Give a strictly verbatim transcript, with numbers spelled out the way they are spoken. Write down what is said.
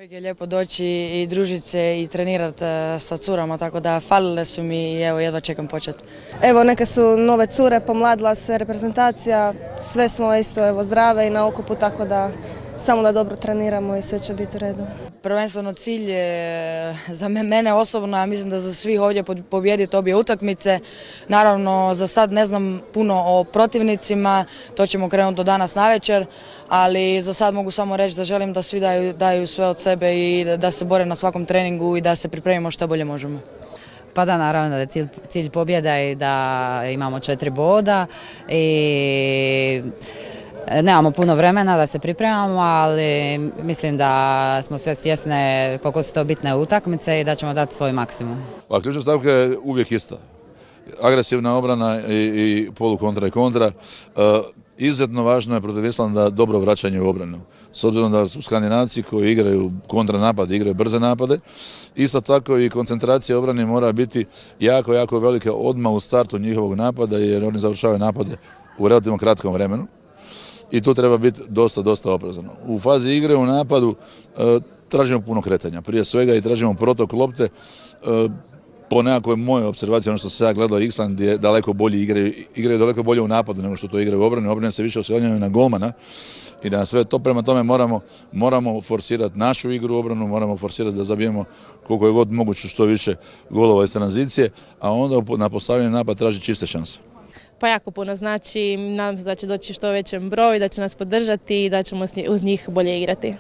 Uvijek je lijepo doći i družiti se i trenirati sa curama, tako da falile su mi i evo jedva čekam početi. Evo neke su nove cure, pomladila se reprezentacija, sve smo isto evo zdrave i na okupu, tako da samo da dobro treniramo i sve će biti u redu. Prvenstveno cilj je za mene osobno, a mislim da za svih ovdje pobijediti obje utakmice. Naravno, za sad ne znam puno o protivnicima, to ćemo krenuti do danas navečer, ali za sad mogu samo reći da želim da svi daju, daju sve od sebe i da se bore na svakom treningu i da se pripremimo što bolje možemo. Pa da, naravno da je cilj, cilj pobjeda i da imamo četiri boda i nemamo puno vremena da se pripremamo, ali mislim da smo sve svjesne koliko su to bitne utakmice i da ćemo dati svoj maksimum. Pa ključna stavka je uvijek ista. Agresivna obrana i, i polukontra i kontra. E, izuzetno važno je protiv Islanda dobro vraćanje u obranu. S obzirom da su Skandinavci koji igraju kontranapade, igraju brze napade, isto tako i koncentracija obrane mora biti jako, jako velika odmah u startu njihovog napada, jer oni završavaju napade u relativno kratkom vremenu. I tu treba biti dosta, dosta oprezan. U fazi igre, u napadu, e, tražimo puno kretanja. Prije svega i tražimo protok lopte. E, po nekakvoj mojoj observaciji, ono što se ja gledao, Island je daleko bolji, igraju, igraju daleko bolje u napadu nego što to igraju u obrani. Obrane se više oslanjaju na golmana i da sve to prema tome moramo, moramo forsirati našu igru u obranu, moramo forsirati da zabijemo koliko je god moguće što više golova iz tranzicije, a onda na postavljeni napad traži čiste šanse. Pa jako puno znači, nadam se da će doći što većem broju, da će nas podržati i da ćemo uz njih bolje igrati.